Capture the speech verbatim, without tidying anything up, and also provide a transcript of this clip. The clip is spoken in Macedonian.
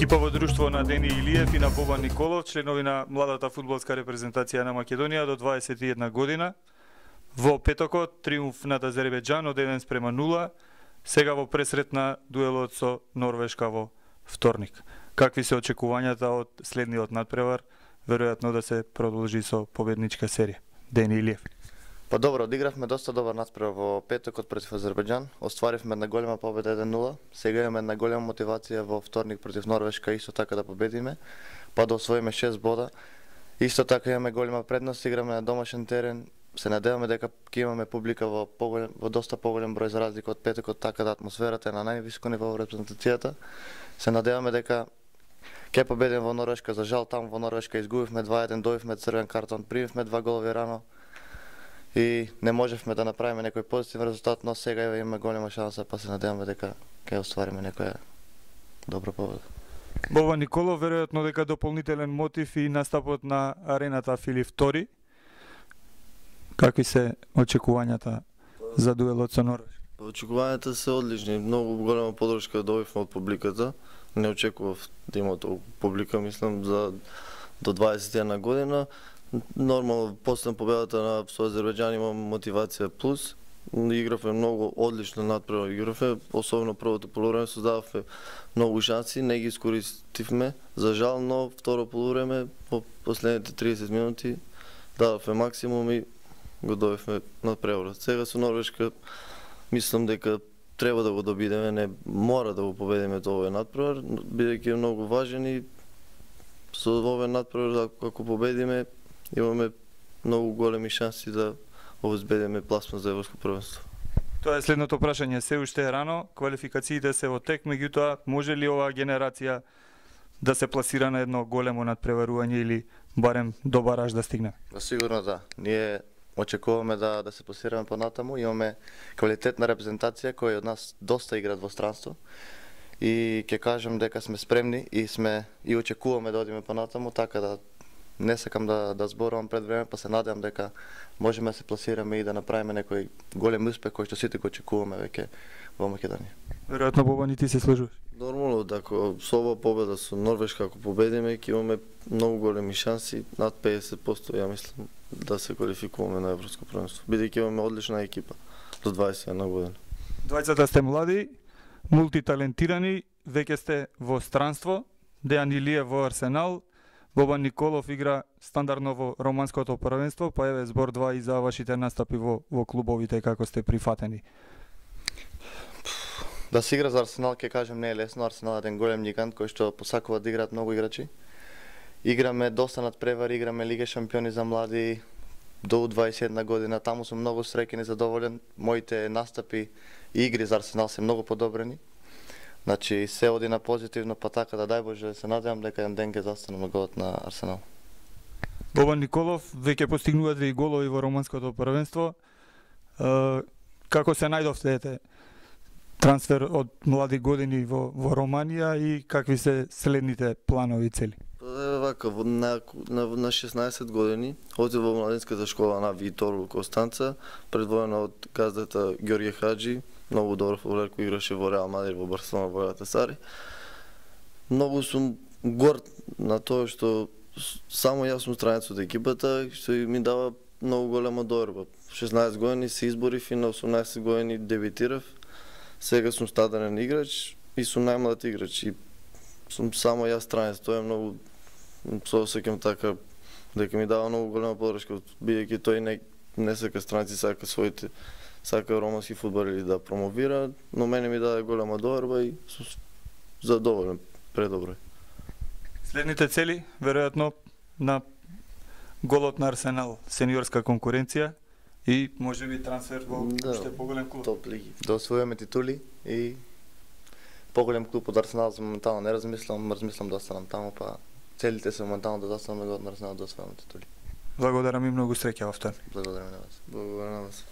Екипово друштво на Дени Илиев и на Бобан Николов, членови на младата фудбалска репрезентација на Македонија до дваесет и една година. Во петокот триумф над Азербејџан од еден спрема нула, сега во пресрет на дуелот со Норвешка во вторник. Какви се очекувањата од следниот надпревар? Веројатно да се продолжи со победничка серија. Дени Илиев. Па добро, одигравме доста добар надпревар во петокот против Азербејџан. Остваривме една голема победа еден нула. Сега имаме една голема мотивација во вторник против Норвешка исто така да победиме, па да освоиме шест бода. Исто така имаме голема предност, играме на домашен терен. Се надеваме дека ќе имаме публика во поголем, во доста поголем број за разлика од петокот, така да атмосферата е на највисоко ниво во репрезентацијата. Се надеваме дека ќе победиме во Норвешка. За жал таму во Норвешка изгубивме два еден, добивме црвен картон, примивме два голови рано и не можевме да направиме некој позитивен резултат, но сега имаме голема шанса, па се надеваме дека ќе оствариме некоја добра победа. Бобан Николов, веројатно дека дополнителен мотив и настапот на арената Филип втори. Какви се очекувањата за дуелот со Норвешка? Очекувањата се одлични, многу голема подршка добивме од публиката. Не очекував да има толку публика, мислам, за до дваесет и една година. Нормално, после победата на со Азербејџан имам мотивација плюс. Игравме многу одлично надпревар, игравме, особено првото полувреме создававме многу шанси, не ги искористивме. За жал, но второ полувреме по последните триесет минути дадовме максимум и го добивме надпреварот. Сега со Норвешка мислам дека треба да го добидеме, не мора да го победиме овој надпревар, бидејќи е многу важен и со овој надпревар ако победиме имаме многу големи шанси да обезбедиме пласман за европско првенство. Тоа е следното прашање. Се уште е рано, квалификациите се во тек, меѓутоа може ли оваа генерација да се пласира на едно големо надпреварување или барем до бараж да стигне? Сигурно да. Ние очекуваме да да се пласираме понатаму, имаме квалитетна репрезентација која од нас доста играат во странство. И ќе кажам дека сме спремни и сме и очекуваме да одиме понатаму, така да не сакам да да зборувам пред време, па се надевам дека можеме да се пласираме и да направиме некој голем успех кој што сите го очекуваме веќе во Македонија. Веројатно Бобан и ти се служуваш. Нормално, дека со ова победа со Норвешка ако победиме ќе имаме многу големи шанси, над педесет проценти ја мислам да се квалификуваме на европско првенство, бидејќи имаме одлична екипа до дваесет и една година. Двајцата сте млади, мултиталентирани, веќе сте во странство. Дејан Илиев во Арсенал, Бобан Николов игра стандардно во романското првенство, па еве збор два и за вашите настапи во во клубовите, како сте прифатени. Да се игра за Арсенал, ќе кажем, не е лесно. Арсенал е еден голем гигант кој што посакува да играат многу играчи. Играме доста надпревари, играме Лига шампиони за млади до дваесет и една година. Таму сум многу среќен и задоволен. Моите настапи и игри за Арсенал се многу подобрени. Значи се оди на позитивно, па така да дај Боже се надевам дека еден ден ќе застанам на голот на Арсенал. Бобан Николов, веќе постигнувате и голови во романското првенство. Како се најдовте трансфер од млади години во во Романија и какви се следните планови и цели? Вака, на, на, на шеснаесет години отидов во младинската школа на Витор Костанца, предводена од газдата Ѓорѓе Хаџи, многу добар фудбалер кој играше во Реал Мадрид, во Барселона, во Галатасарај. Многу сум горд на тоа што само јас сум странец од екипата, што ми дава многу голема доверба. шеснаесет години се изборив и на осумнаесет години дебитирав. Сега сум стаден играч и сум најмлад играч и сум само јас странец. Тоа е многу се осеќам така дека ми дава многу голема подршка, бидејќи тој не не сака странци, сака своите сака романски фудбал да промовира, но мене ми даде голема доверба и сум задоволен, предобро. Следните цели, веројатно на голот на Арсенал, сениорска конкуренција и можеби трансфер во да, уште поголем клуб. Топ лиги. Да освоиме титули и поголем клуб од Арсенал за моментално не размислам, размислам да останам таму, па целите се моментално да застанам на голот на Арсенал да освоиме титули. Благодарам и многу среќа во тоа. Благодарам на вас. Благодарам на вас.